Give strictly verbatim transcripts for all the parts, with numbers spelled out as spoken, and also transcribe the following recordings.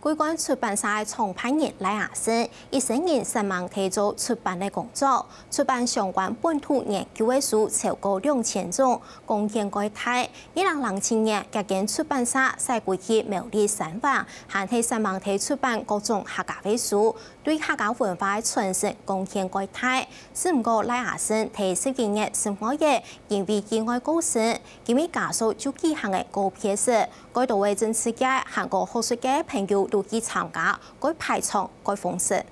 桂冠出版社个創辦人賴阿盛，一生人煞猛在做出版个工作，出版相關本土研究个書超過兩千種，貢獻蓋大。二零零七年，這間出版社徙歸去苗栗三灣，還係煞猛在出版各種客家个書，對客家文化个傳承貢獻蓋大。只毋過賴阿盛在十一月十五日因為意外過身，今日家屬就舉行个告別式， 蓋多位政治界還過學術界朋友都去參加，蓋排場，蓋豐盛。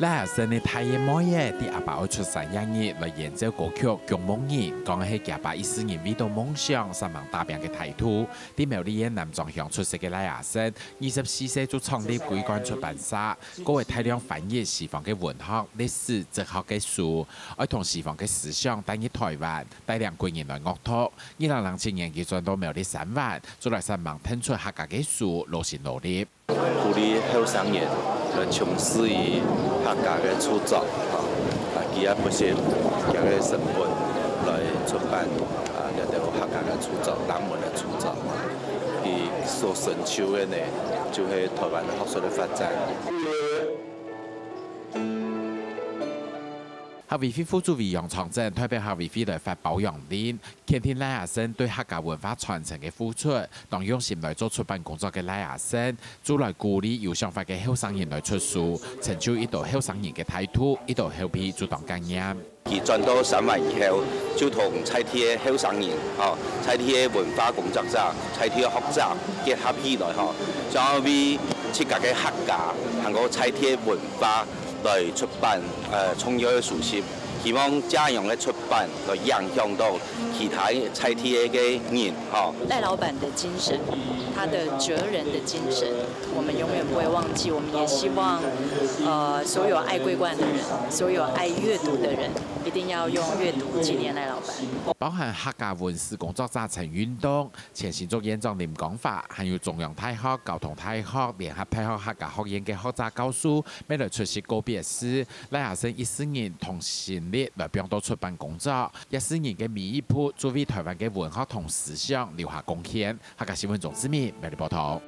賴阿盛个大姨妹仔，在阿爸愛出生該日來演奏歌曲《降夢人》，講係厥爸一世人為著夢想煞猛打拚个態度。在苗栗縣南庄鄉出世个賴阿盛，二十四歲就創立桂冠出版社，過會大量翻譯西方个文學、歷史、哲學个書，愛同西方个思想帶入台灣， 帶領歸仁來樂讀。二零零七年，佢轉到苗栗三灣，就來煞猛跈出客家个書，勞心勞力。鼓勵後生人來從事於客家个著作，吼，啊，佢也不惜佢个成本來出版，啊，這兜客家个著作、人文个著作。佢所成就个呢，就係台灣个學術个發展。客委會副主委楊長鎮代表客委會來發褒揚令， 肯定賴阿盛對客家文化傳承个付出，當用心來做出版工作个賴阿盛，就來鼓勵有想法个後生人來出書，成就一兜後生人个態度，一兜後輩就當感念。佢轉到三灣以後，就同在地个後生人，吼，在地个文化工作者、在地个學者結合起來，吼，想要為自家个客家，還過在地个文化 來出版，呃，重要个書籍，希望這樣个出版來影響到其他在地个人，吼。賴老闆的精神，他的哲人的精神，我們永遠不會忘記。我們也希望，呃，所有愛桂冠的人，所有愛閱讀的人，一定要用閱讀紀念賴老闆。包含客家文史工作者陳運棟、 前新竹縣長林江華，還有中央大學、交通大學、聯合大學客家學院个學者教授，乜來出席告別式。賴阿盛一世人同心力來放到出版工作，一世人个每一步，就為台灣个文學同思想留下貢獻。客家新聞鍾志明，苗栗報導。